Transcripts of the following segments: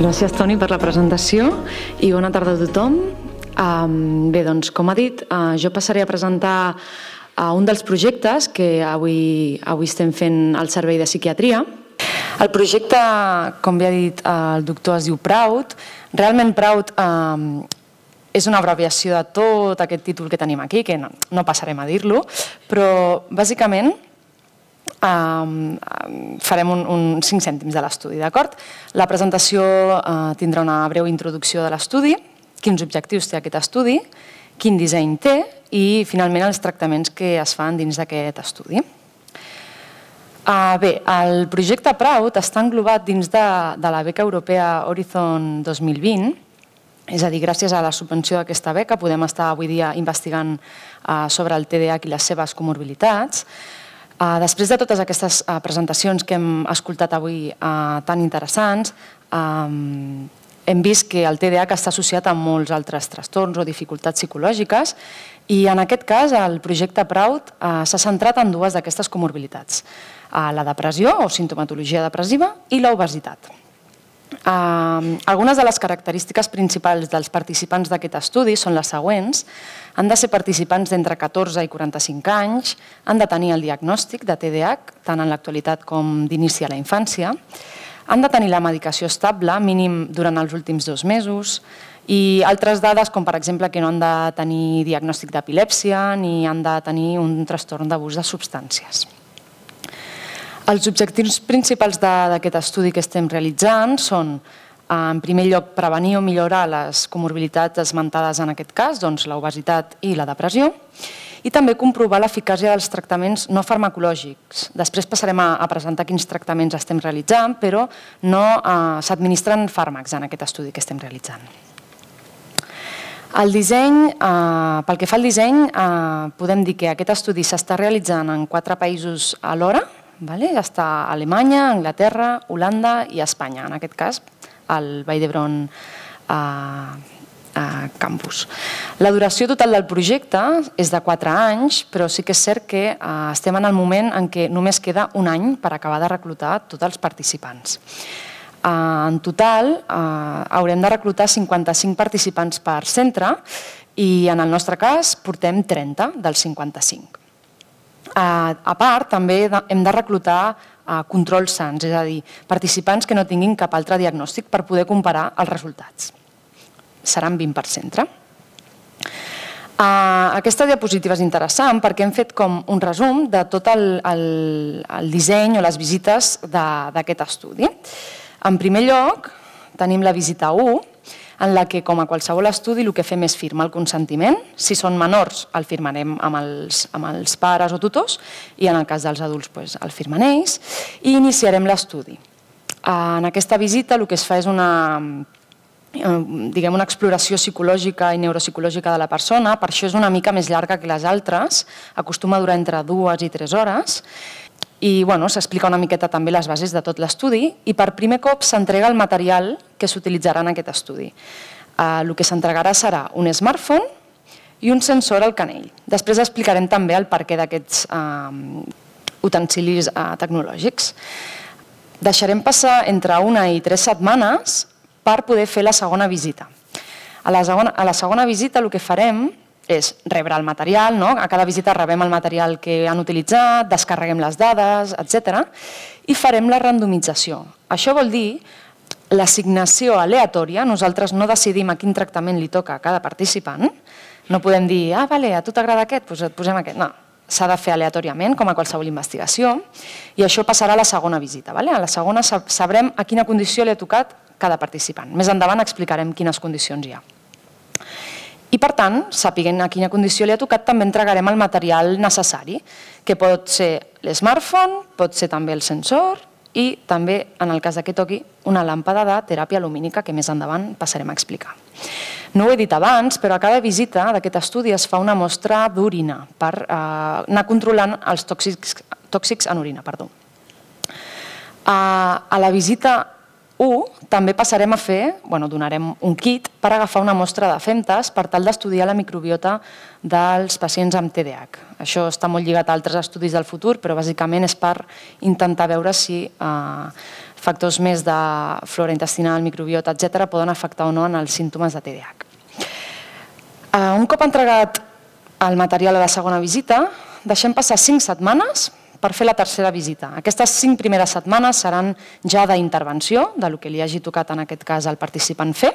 Gràcies, Toni, per la presentació i bona tarda a tothom. Bé, doncs, com ha dit, jo passaré a presentar un dels projectes que avui estem fent al Servei de Psiquiatria. El projecte, com bé ha dit el doctor, es diu PRAUD. Realment PRAUD és una abreviació de tot aquest títol que tenim aquí, que no passarem a dir-lo, però bàsicament farem uns 5 cèntims de l'estudi, d'acord? La presentació tindrà una breu introducció de l'estudi, quins objectius té aquest estudi, quin disseny té i, finalment, els tractaments que es fan dins d'aquest estudi. Bé, el projecte PRAUD està englobat dins de la beca europea Horizon 2020, és a dir, gràcies a la subvenció d'aquesta beca podem estar avui dia investigant sobre el TDAH i les seves comorbilitats. Després de totes aquestes presentacions que hem escoltat avui tan interessants, hem vist que el TDAH està associat a molts altres trastorns o dificultats psicològiques i en aquest cas el projecte PRAUD s'ha centrat en dues d'aquestes comorbilitats, la depressió o sintomatologia depressiva i l'obesitat. Algunes de les característiques principals dels participants d'aquest estudi són les següents. Han de ser participants d'entre 14 i 45 anys, han de tenir el diagnòstic de TDAH, tant en l'actualitat com d'inici a la infància, han de tenir la medicació estable, mínim durant els últims 2 mesos, i altres dades, com per exemple que no han de tenir diagnòstic d'epilèpsia ni han de tenir un trastorn d'abús de substàncies. Els objectius principals d'aquest estudi que estem realitzant són, en primer lloc, prevenir o millorar les comorbilitats esmentades en aquest cas, doncs l'obesitat i la depressió, i també comprovar l'eficàcia dels tractaments no farmacològics. Després passarem a presentar quins tractaments estem realitzant, però no s'administren fàrmacs en aquest estudi que estem realitzant. El disseny, pel que fa al disseny, podem dir que aquest estudi s'està realitzant en 4 països alhora. Està a Alemanya, Anglaterra, Holanda i Espanya, en aquest cas al Vall d'Hebron campus. La duració total del projecte és de 4 anys, però sí que és cert que estem en el moment en què només queda un any per acabar de reclutar tots els participants. En total haurem de reclutar 55 participants per centre i en el nostre cas portem 30 dels 55. A part, també hem de reclutar controls sans, és a dir, participants que no tinguin cap altre diagnòstic per poder comparar els resultats. Seran 20 per centre. Aquesta diapositiva és interessant perquè hem fet com un resum de tot el disseny o les visites d'aquest estudi. En primer lloc, tenim la visita 1, en la que, com a qualsevol estudi, el que fem és firmar el consentiment. Si són menors, el firmarem amb els pares o tutors i en el cas dels adults el firmen ells i iniciarem l'estudi. En aquesta visita el que es fa és una exploració psicològica i neuropsicològica de la persona, per això és una mica més llarga que les altres, acostuma a durar entre 2 i 3 hores, i s'explica una miqueta també les bases de tot l'estudi i per primer cop s'entrega el material que s'utilitzarà en aquest estudi. El que s'entregarà serà un smartphone i un sensor al canell. Després explicarem també el perquè d'aquests utensilis tecnològics. Deixarem passar entre 1 i 3 setmanes per poder fer la segona visita. A la segona visita el que farem és rebre el material, a cada visita rebem el material que han utilitzat, descarreguem les dades, etc. i farem la randomització. Això vol dir l'assignació aleatòria, nosaltres no decidim a quin tractament li toca a cada participant, no podem dir, a tu t'agrada aquest, doncs et posem aquest, no. S'ha de fer aleatòriament, com a qualsevol investigació, i això passarà a la segona visita. A la segona sabrem a quina condició li ha tocat cada participant. Més endavant explicarem quines condicions hi ha. I, per tant, sapiguent a quina condició li ha tocat, també entregarem el material necessari, que pot ser l'smartphone, pot ser també el sensor i també, en el cas que toqui, una làmpada de teràpia lumínica que més endavant passarem a explicar. No ho he dit abans, però a cada visita d'aquest estudi es fa una mostra d'orina per anar controlant els tòxics en orina. A la visita 1 també passarem a fer, donarem un kit per agafar una mostra de femtes per tal d'estudiar la microbiota dels pacients amb TDAH. Això està molt lligat a altres estudis del futur, però bàsicament és per intentar veure si factors més de flora intestinal, microbiota, etc., poden afectar o no en els símptomes de TDAH. Un cop entregat el material a la segona visita, deixem passar 5 setmanes per fer la tercera visita. Aquestes 5 primeres setmanes seran ja d'intervenció, del que li hagi tocat en aquest cas al participant fer,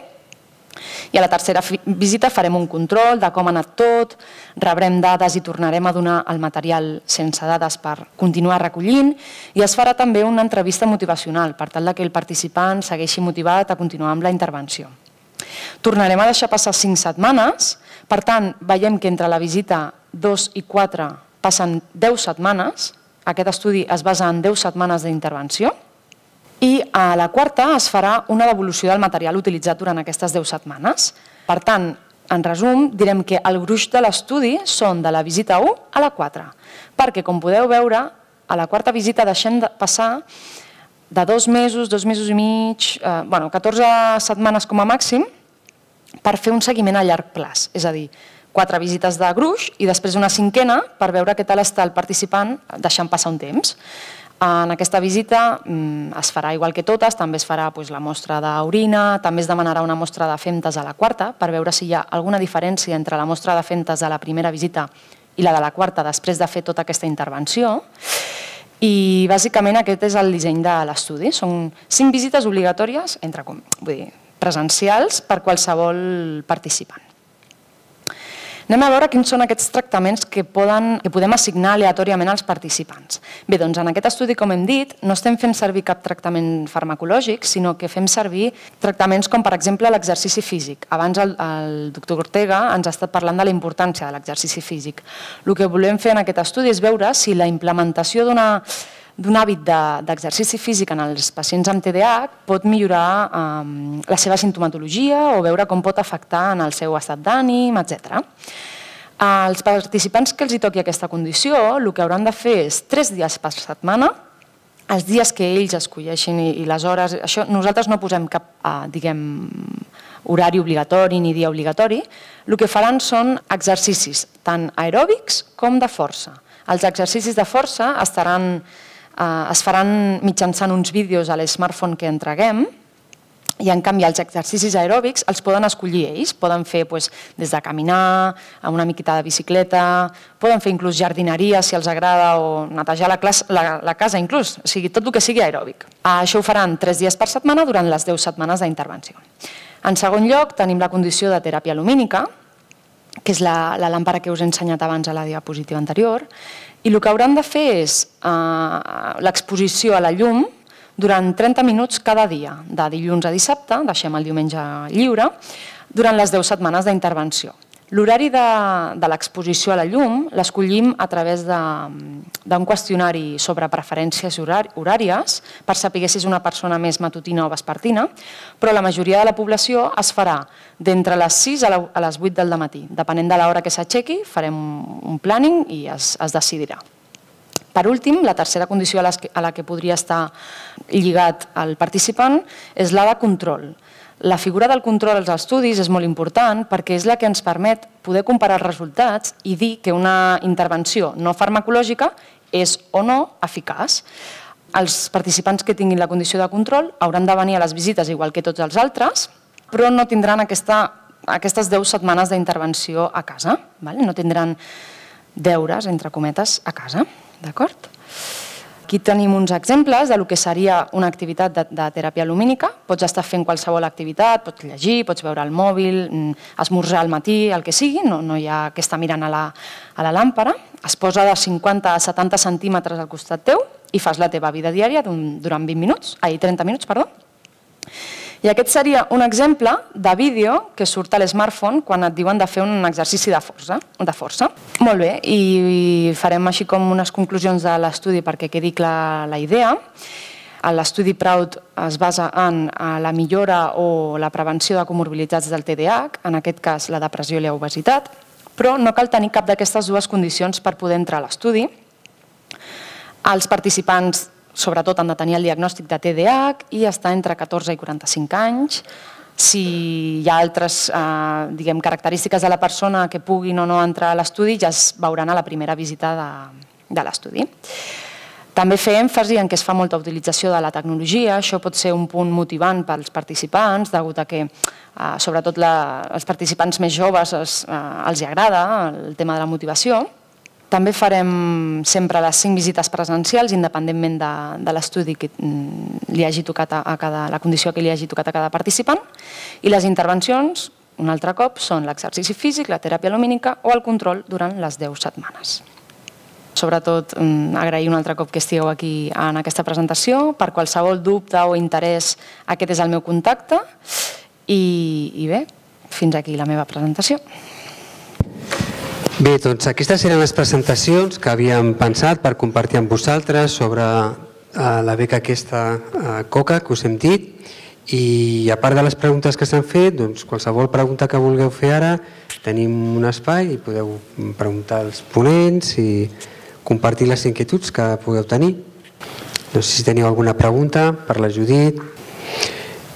i a la tercera visita farem un control de com ha anat tot, rebrem dades i tornarem a donar el material sense dades per continuar recollint, i es farà també una entrevista motivacional per tal que el participant segueixi motivat a continuar amb la intervenció. Tornarem a deixar passar 5 setmanes, per tant, veiem que entre la visita 2 i 4 passen 10 setmanes, aquest estudi es basa en 10 setmanes d'intervenció, i a la quarta es farà una devolució del material utilitzat durant aquestes 10 setmanes. Per tant, en resum, direm que el gruix de l'estudi són de la visita 1 a la 4, perquè, com podeu veure, a la quarta visita deixem de passar de 2 mesos, 2 mesos i mig, 14 setmanes com a màxim, per fer un seguiment a llarg plaç, és a dir, 4 visites de gruix i després una 5a per veure què tal està el participant deixant passar un temps. En aquesta visita es farà igual que totes, també es farà la mostra d'orina, també es demanarà una mostra de femtes a la quarta per veure si hi ha alguna diferència entre la mostra de femtes de la primera visita i la de la quarta després de fer tota aquesta intervenció. I bàsicament aquest és el disseny de l'estudi. Són 5 visites obligatòries, presencials, per qualsevol participant. Anem a veure quins són aquests tractaments que podem assignar aleatòriament als participants. Bé, doncs en aquest estudi, com hem dit, no estem fent servir cap tractament farmacològic, sinó que fem servir tractaments com, per exemple, l'exercici físic. Abans el doctor Ortega ens ha estat parlant de la importància de l'exercici físic. El que volem fer en aquest estudi és veure si la implementació d'un hàbit d'exercici físic en els pacients amb TDAH pot millorar la seva simptomatologia o veure com pot afectar en el seu estat d'ànim, etc. Els participants que els toqui aquesta condició, el que hauran de fer és 3 dies per setmana, els dies que ells escolleixin i les hores. Nosaltres no posem cap horari obligatori ni dia obligatori. El que faran són exercicis tant aeròbics com de força. Els exercicis de força es faran mitjançant uns vídeos a l'smartphone que entreguem, i en canvi els exercicis aeròbics els poden escollir ells. Poden fer des de caminar, una miqueta de bicicleta, poden fer inclús jardineria si els agrada o netejar la casa inclús, o sigui, tot el que sigui aeròbic. Això ho faran 3 dies per setmana durant les 10 setmanes d'intervenció. En segon lloc tenim la condició de teràpia lumínica, que és la làmpara que us he ensenyat abans a la diapositiva anterior, i el que hauran de fer és l'exposició a la llum durant 30 minuts cada dia, de dilluns a dissabte, deixem el diumenge lliure, durant les 10 setmanes d'intervenció. L'horari de l'exposició a la llum l'escollim a través d'un qüestionari sobre preferències horàries per saber si és una persona més matutina o vespertina, però la majoria de la població es farà d'entre les 6 a les 8 del matí. Depenent de l'hora que s'aixequi, farem un planning i es decidirà. Per últim, la tercera condició a la que podria estar lligat el participant és la de control. La figura del control als estudis és molt important perquè és la que ens permet poder comparar els resultats i dir que una intervenció no farmacològica és o no eficaç. Els participants que tinguin la condició de control hauran de venir a les visites igual que tots els altres, però no tindran aquestes 10 setmanes d'intervenció a casa. No tindran deures, entre cometes, a casa. D'acord? Aquí tenim uns exemples del que seria una activitat de teràpia lumínica. Pots estar fent qualsevol activitat, pots llegir, pots veure el mòbil, esmorzar al matí, el que sigui, no hi ha que estar mirant a la làmpara. Es posa de 50 a 70 centímetres al costat teu i fas la teva vida diària durant 30 minuts. I aquest seria un exemple de vídeo que surt a l'smartphone quan et diuen de fer un exercici de força. Molt bé, i farem així com unes conclusions de l'estudi perquè quedi clara la idea. L'estudi PROUD es basa en la millora o la prevenció de comorbilitats del TDAH, en aquest cas la depressió i l'obesitat, però no cal tenir cap d'aquestes dues condicions per poder entrar a l'estudi. Els participants sobretot han de tenir el diagnòstic de TDAH i estar entre 14 i 45 anys. Si hi ha altres característiques de la persona que puguin o no entrar a l'estudi, ja es veuran a la primera visita de l'estudi. També fer èmfasi en què es fa molta utilització de la tecnologia. Això pot ser un punt motivant pels participants, degut a que sobretot als participants més joves els agrada el tema de la motivació. També farem sempre les 5 visites presencials, independentment de l'estudi que li hagi tocat la condició que li hagi tocat a cada participant. I les intervencions, un altre cop, són l'exercici físic, la teràpia lumínica o el control durant les 10 setmanes. Sobretot, agrair un altre cop que estigueu aquí en aquesta presentació. Per qualsevol dubte o interès, aquest és el meu contacte. I bé, fins aquí la meva presentació. Bé, doncs aquestes eren les presentacions que havíem pensat per compartir amb vosaltres sobre la beca aquesta COCA que us hem dit. I a part de les preguntes que s'han fet, doncs qualsevol pregunta que vulgueu fer ara, tenim un espai i podeu preguntar als ponents i compartir les inquietuds que pugueu tenir. No sé si teniu alguna pregunta per la Judit.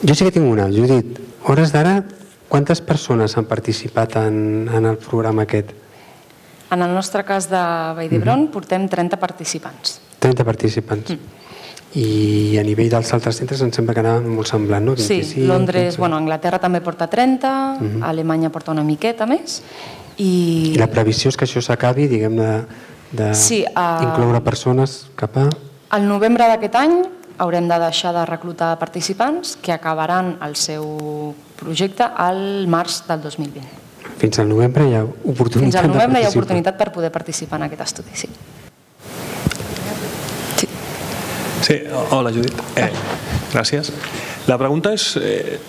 Jo sí que tinc una. Judit, a hores d'ara, quantes persones han participat en el programa aquest? En el nostre cas de Vall d'Hebron portem 30 participants. 30 participants. I a nivell dels altres centres em sembla que anava molt semblant, no? Sí, Londres, Anglaterra també porta 30, Alemanya porta una miqueta més. I la previsió és que això s'acabi, diguem-ne, d'incloure persones cap a... Al novembre d'aquest any haurem de deixar de reclutar participants que acabaran el seu projecte al març del 2020. Fins al novembre hi ha oportunitat de participar. Fins al novembre hi ha oportunitat per poder participar en aquest estudi, sí. Sí, hola Judit. Gràcies. La pregunta és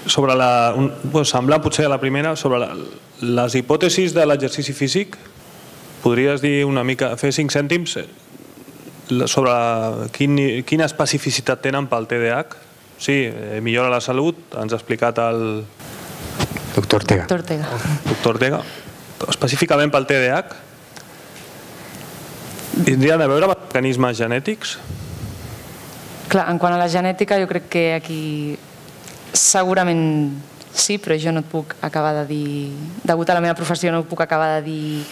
sobre semblant potser a la primera, sobre les hipòtesis de l'exercici físic. Podries dir una mica, fer 5 cèntims sobre quina especificitat tenen pel TDAH? Sí, millora la salut, ens ha explicat el doctor Ortega. Doctor Ortega. Específicament pel TDAH, tindrien a veure amb mecanismes genètics? Clar, en quant a la genètica, jo crec que aquí segurament sí, però jo no et puc acabar de dir, degut a la meva professió no puc acabar de dir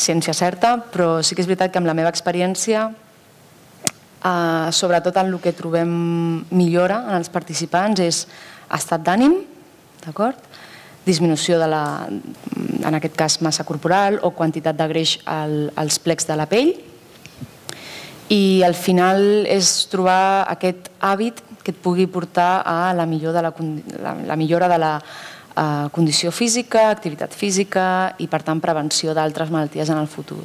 ciència certa, però sí que és veritat que amb la meva experiència, sobretot en el que trobem millora en els participants és estat d'ànim, d'acord? Disminució de la, en aquest cas, massa corporal o quantitat de greix als plecs de la pell, i al final és trobar aquest hàbit que et pugui portar a la millora de la condició física, activitat física i, per tant, prevenció d'altres malalties en el futur.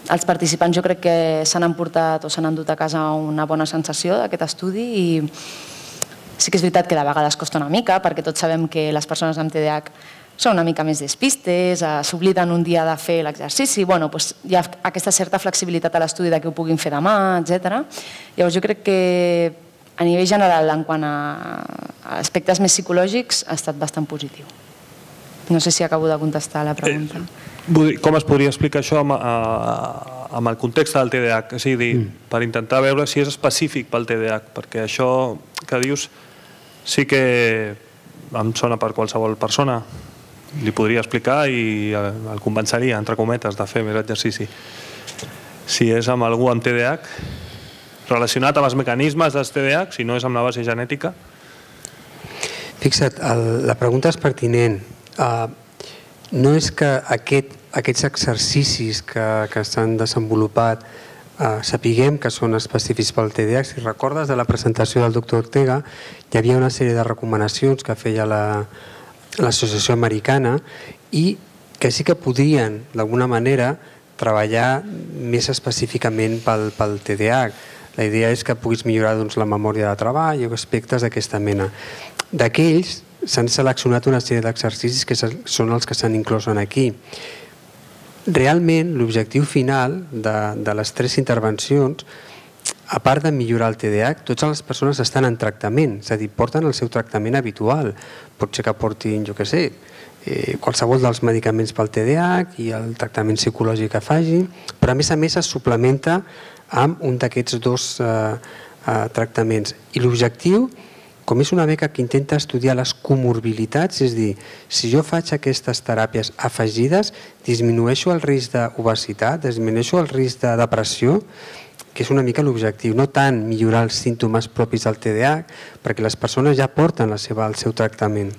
Els participants jo crec que s'han emportat o s'han endut a casa una bona sensació d'aquest estudi i sí que és veritat que de vegades costa una mica perquè tots sabem que les persones amb TDAH són una mica més despistes, s'obliden un dia de fer l'exercici, hi ha aquesta certa flexibilitat a l'estudi de que ho puguin fer demà, etc. Llavors jo crec que a nivell general, en quant a aspectes més psicològics, ha estat bastant positiu. No sé si acabo de contestar la pregunta. Com es podria explicar això amb el context del TDAH? És a dir, per intentar veure si és específic pel TDAH, perquè això que dius sí que em sona per qualsevol persona. Li podria explicar i el convenceria, entre cometes, de fer més exercici. Si és amb algú amb TDAH, relacionat amb els mecanismes dels TDAH, si no és amb la base genètica? Fixa't, la pregunta és pertinent. No és que aquests exercicis que s'han desenvolupat sapiguem que són específics pel TDAH. Si recordes de la presentació del doctor Ortega, hi havia una sèrie de recomanacions que feia l'Associació Americana i que sí que podrien, d'alguna manera, treballar més específicament pel TDAH. La idea és que puguis millorar la memòria de treball o aspectes d'aquesta mena. D'aquells s'han seleccionat una sèrie d'exercicis que són els que s'han inclòs aquí. Realment, l'objectiu final de les 3 intervencions, a part de millorar el TDAH, totes les persones estan en tractament, és a dir, porten el seu tractament habitual. Pot ser que portin, jo què sé, qualsevol dels medicaments pel TDAH i el tractament psicològic que facin, però a més es suplementa amb un d'aquests 2 tractaments. I l'objectiu, com és una beca que intenta estudiar les comorbilitats, és dir, si jo faig aquestes teràpies afegides, disminueixo el risc d'obesitat, disminueixo el risc de depressió, que és una mica l'objectiu, no tant millorar els símptomes propis del TDAH, perquè les persones ja porten el seu tractament,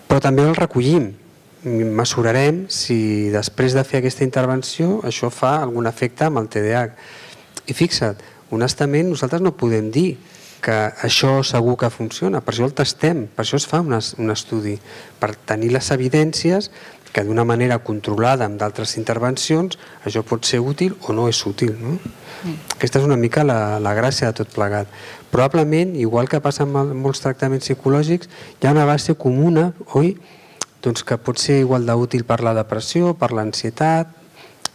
però també el recollim, mesurarem si després de fer aquesta intervenció això fa algun efecte amb el TDAH. I fixa't, honestament nosaltres no podem dir que això segur que funciona, per això el testem, per això es fa un estudi, per tenir les evidències que d'una manera controlada amb d'altres intervencions això pot ser útil o no és útil. Aquesta és una mica la gràcia de tot plegat. Probablement, igual que passa amb molts tractaments psicològics, hi ha una base comuna, oi? Doncs que pot ser igual d'útil per la depressió, per l'ansietat,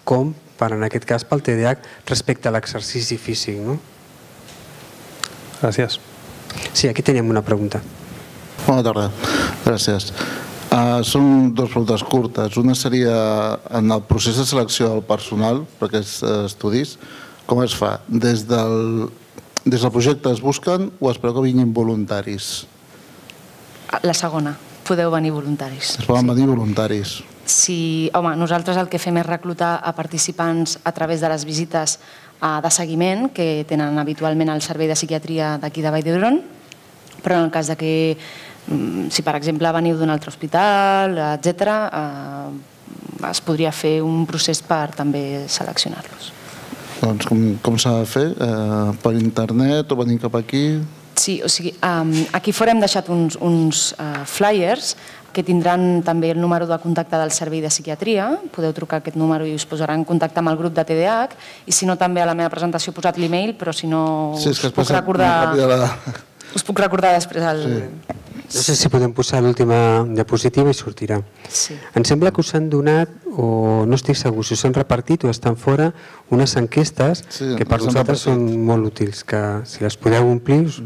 com per, en aquest cas, pel TDAH respecte a l'exercici físic. Gràcies. Sí, aquí teníem una pregunta. Bona tarda, gràcies. Són dues preguntes curtes. Una seria, en el procés de selecció del personal per aquests estudis, com es fa? Des del projecte es busquen o espereu que vinguin voluntaris? La segona, podeu venir voluntaris. Es poden venir voluntaris. Sí, home, nosaltres el que fem és reclutar a participants a través de les visites de seguiment que tenen habitualment el Servei de Psiquiatria d'aquí de Vall d'Hebron, però en el cas que, si per exemple veniu d'un altre hospital, etc., es podria fer un procés per també seleccionar-los. Doncs com s'ha de fer? Per internet o venir cap aquí? Sí, o sigui, aquí fora hem deixat uns flyers que tindran també el número de contacte del Servei de Psiquiatria. Podeu trucar a aquest número i us posarà en contacte amb el grup de TDAH, i si no també a la meva presentació he posat l'email, però si no us puc recordar després el... No sé si podem posar l'última diapositiva i sortirà. Em sembla que us han donat, o no estic segur, si us han repartit o estan fora, unes enquestes que per nosaltres són molt útils, que si les podeu omplir us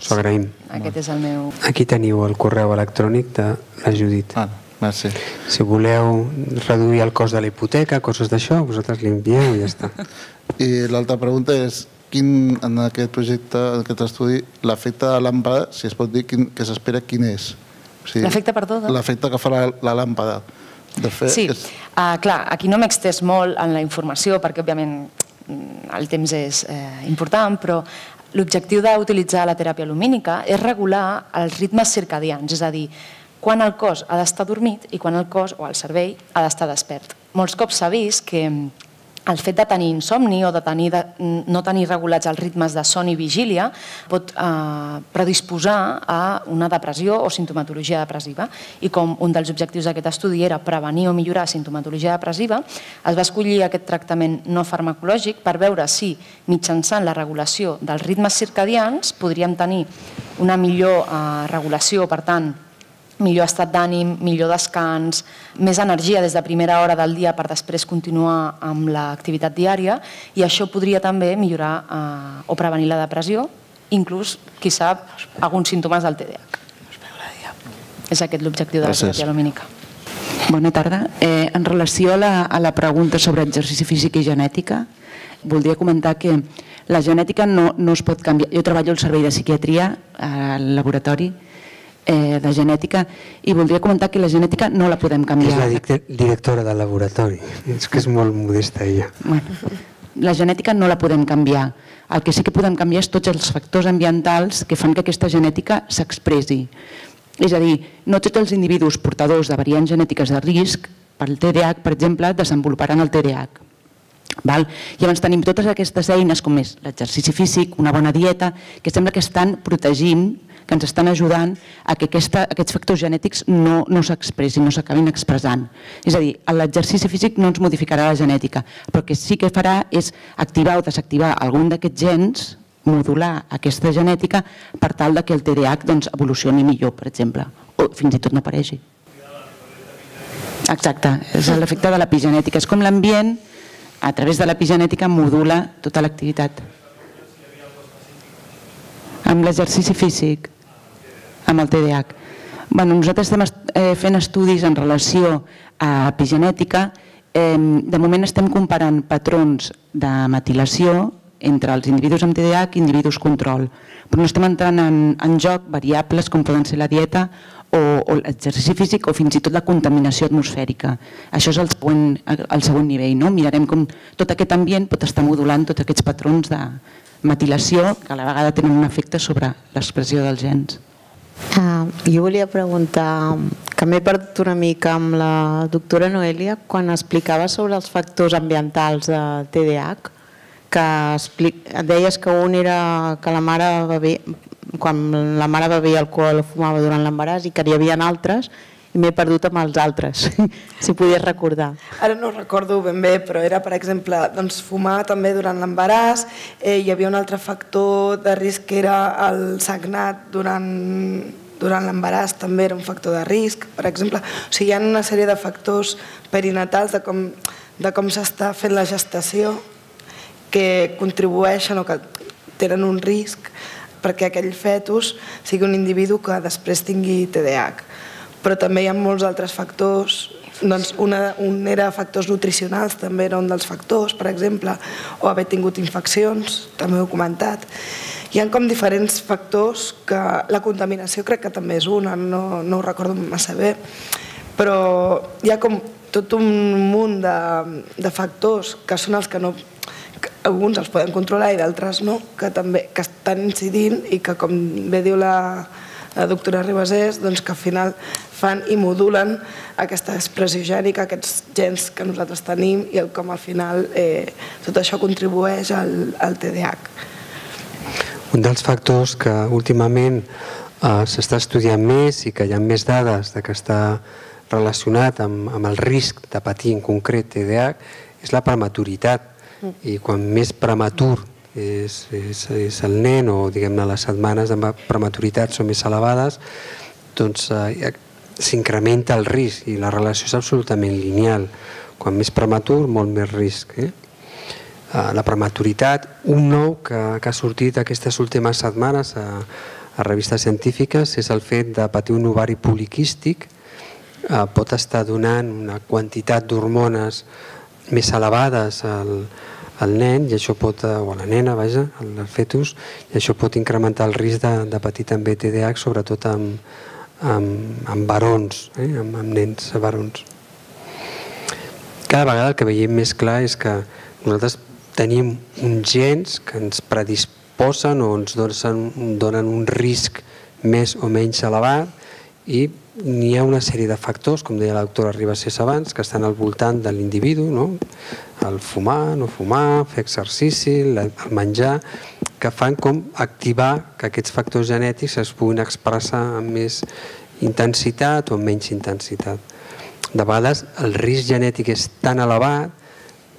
ho agraïm. Aquest és el meu... Aquí teniu el correu electrònic de la Judit. Merci. Si voleu reduir el cost de la hipoteca, coses d'això, vosaltres l'envieu i ja està. I l'altra pregunta és, en aquest projecte, en aquest estudi, l'efecte de la làmpada, si es pot dir que s'espera, quin és? L'efecte, perdó? L'efecte que farà la làmpada. Sí, clar, aquí no m'he extès molt en la informació perquè, òbviament, el temps és important, però l'objectiu d'utilitzar la teràpia lumínica és regular els ritmes circadians, és a dir, quan el cos ha d'estar dormit i quan el cos o el cervell ha d'estar despert. Molts cops s'ha vist que el fet de tenir insomni o de no tenir regulats els ritmes de son i vigília pot predisposar a una depressió o sintomatologia depressiva, i com un dels objectius d'aquest estudi era prevenir o millorar sintomatologia depressiva, es va escollir aquest tractament no farmacològic per veure si mitjançant la regulació dels ritmes circadians podríem tenir una millor regulació, per tant, millor estat d'ànim, millor descans, més energia des de primera hora del dia per després continuar amb l'activitat diària, i això podria també millorar o prevenir la depressió, inclús, qui sap, alguns símptomes del TDAH. És aquest l'objectiu de la teràpia lumínica. Bona tarda. En relació a la pregunta sobre exercici físic i genètica, voldria comentar que la genètica no es pot canviar. Jo treballo al Servei de Psiquiatria, al laboratori de genètica, i voldria comentar que la genètica no la podem canviar. És la directora del laboratori, és que és molt modesta ella. La genètica no la podem canviar. El que sí que podem canviar és tots els factors ambientals que fan que aquesta genètica s'expressi. És a dir, no tots els individus portadors de variants genètiques de risc, pel TDAH, per exemple, desenvoluparan el TDAH. Llavors tenim totes aquestes eines, com és l'exercici físic, una bona dieta, que sembla que estan protegint, que ens estan ajudant a que aquests factors genètics no s'expressin, no s'acabin expressant. És a dir, l'exercici físic no ens modificarà la genètica, però el que sí que farà és activar o desactivar algun d'aquests gens, modular aquesta genètica per tal que el TDAH evolucioni millor, per exemple, o fins i tot no apareixi. Exacte, és l'efecte de l'epigenètica. És com l'ambient, a través de l'epigenètica, modula tota l'activitat. Amb l'exercici físic, amb el TDAH. Nosaltres estem fent estudis en relació a epigenètica. De moment estem comparant patrons de metilació entre els individus amb TDAH i individus control. Però no estem entrant en joc variables com poden ser la dieta o l'exercici físic o fins i tot la contaminació atmosfèrica. Això és el següent nivell. Mirarem com tot aquest ambient pot estar modulant tots aquests patrons de metilació que a la vegada tenen un efecte sobre l'expressió dels gens. Jo volia preguntar, que m'he perdut una mica amb la doctora Noelia quan explicava sobre els factors ambientals de TDAH, que deies que un era que la mare bevia, quan la mare bevia alcohol o fumava durant l'embaràs, i que hi havia altres, i m'he perdut amb els altres, si podies recordar. Ara no recordo ben bé, però era, per exemple, fumar també durant l'embaràs, hi havia un altre factor de risc que era el sagnat durant l'embaràs, també era un factor de risc, per exemple. O sigui, hi ha una sèrie de factors perinatals de com s'està fent la gestació que contribueixen o que tenen un risc perquè aquell fetus sigui un individu que després tingui TDAH. Però també hi ha molts altres factors. Un era factors nutricionals, també era un dels factors, per exemple, o haver tingut infeccions, també ho he comentat. Hi ha com diferents factors que la contaminació crec que també és una, no ho recordo massa bé, però hi ha com tot un munt de factors que són els que no... Alguns els podem controlar i d'altres no, que estan incidint i que, com bé diu la doctora Ribasés, que al final fan i modulen aquesta expressió gènica, aquests gens que nosaltres tenim i com al final tot això contribueix al TDAH. Un dels factors que últimament s'està estudiant més i que hi ha més dades que està relacionat amb el risc de patir en concret TDAH és la prematuritat. I quan més prematur és el nen o diguem-ne les setmanes de prematuritat són més elevades, doncs s'incrementa el risc i la relació és absolutament lineal. Quan més prematur, molt més risc. La prematuritat, un nou que ha sortit aquestes últimes setmanes a revistes científiques és el fet de patir un ovari poliquístic. Pot estar donant una quantitat d'hormones més elevades al nen i això pot, o a la nena, vaja, al fetus, i això pot incrementar el risc de patir també TDAH, sobretot amb barons, amb nens barons. Cada vegada el que veiem més clar és que nosaltres tenim uns gens que ens predisposen o ens donen un risc més o menys elevat i n'hi ha una sèrie de factors, com deia la doctora Ribasés abans, que estan al voltant de l'individu, el fumar, no fumar, fer exercici, el menjar, que fan com activar que aquests factors genètics es puguin expressar amb més intensitat o amb menys intensitat. De vegades el risc genètic és tan elevat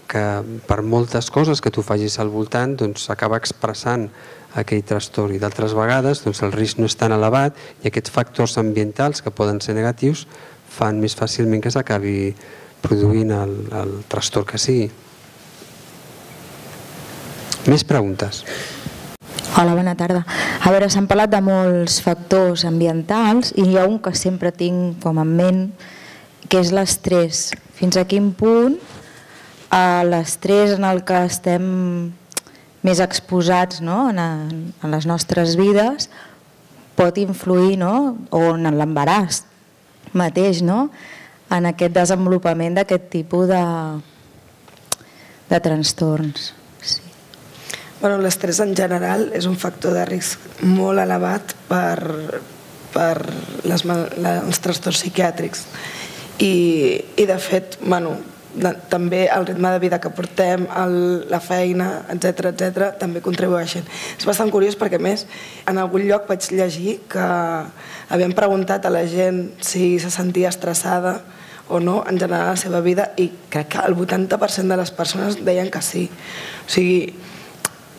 que per moltes coses que tu facis al voltant s'acaba expressant aquell trastorn i d'altres vegades el risc no és tan elevat i aquests factors ambientals que poden ser negatius fan més fàcilment que s'acabi produint el trastorn que sigui. Més preguntes? Hola, bona tarda. A veure, s'han parlat de molts factors ambientals i hi ha un que sempre tinc com en ment, que és l'estrès. Fins a quin punt l'estrès en el que estem més exposats en les nostres vides pot influir, o en l'embaràs mateix, en aquest desenvolupament d'aquest tipus de trastorns. L'estrès en general és un factor de risc molt elevat per els trastorns psiquiàtrics i de fet, també el ritme de vida que portem, la feina, etc., també contribueixen. És bastant curiós perquè, a més, en algun lloc vaig llegir que havien preguntat a la gent si se sentia estressada o no en general a la seva vida i crec que el 80% de les persones deien que sí. O sigui,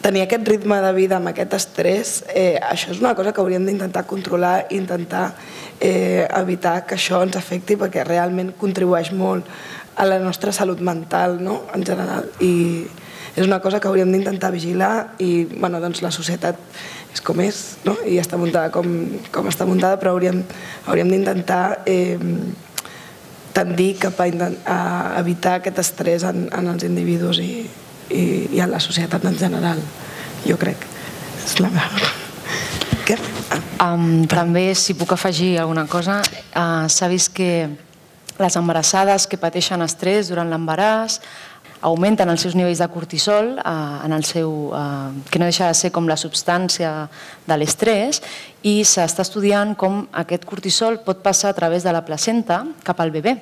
tenir aquest ritme de vida amb aquest estrès, això és una cosa que hauríem d'intentar controlar i intentar evitar que això ens afecti perquè realment contribueix molt a la nostra salut mental en general i és una cosa que hauríem d'intentar vigilar i la societat és com és i està muntada com està muntada, però hauríem d'intentar tendir cap a evitar aquest estrès en els individus i en la societat en general, jo crec. És la meva... Què? També, si puc afegir alguna cosa, s'ha vist que les embarassades que pateixen estrès durant l'embaràs augmenten els seus nivells de cortisol, que no deixa de ser com la substància de l'estrès, i s'està estudiant com aquest cortisol pot passar a través de la placenta cap al bebè.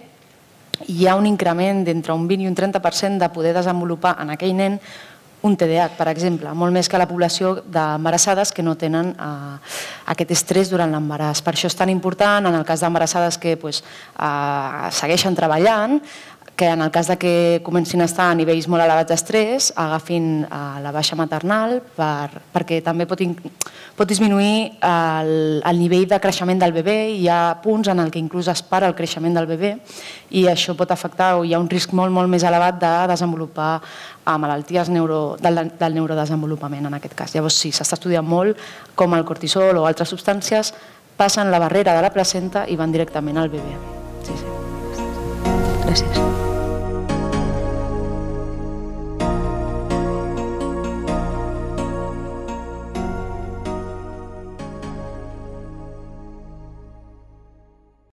Hi ha un increment d'entre un 20 i un 30% de poder desenvolupar en aquell nen un TDAH, per exemple, molt més que la població d'embarassades que no tenen aquest estrès durant l'embaràs. Per això és tan important, en el cas d'embarassades que segueixen treballant, que en el cas que comencin a estar a nivells molt elevats d'estrès, agafin la baixa maternal perquè també pot disminuir el nivell de creixement del bebè. Hi ha punts en què inclús es para el creixement del bebè i això pot afectar, o hi ha un risc molt més elevat de desenvolupar malalties del neurodesenvolupament en aquest cas. Llavors sí, s'està estudiant molt com el cortisol o altres substàncies passen la barrera de la placenta i van directament al bebè. Sí. Gràcies.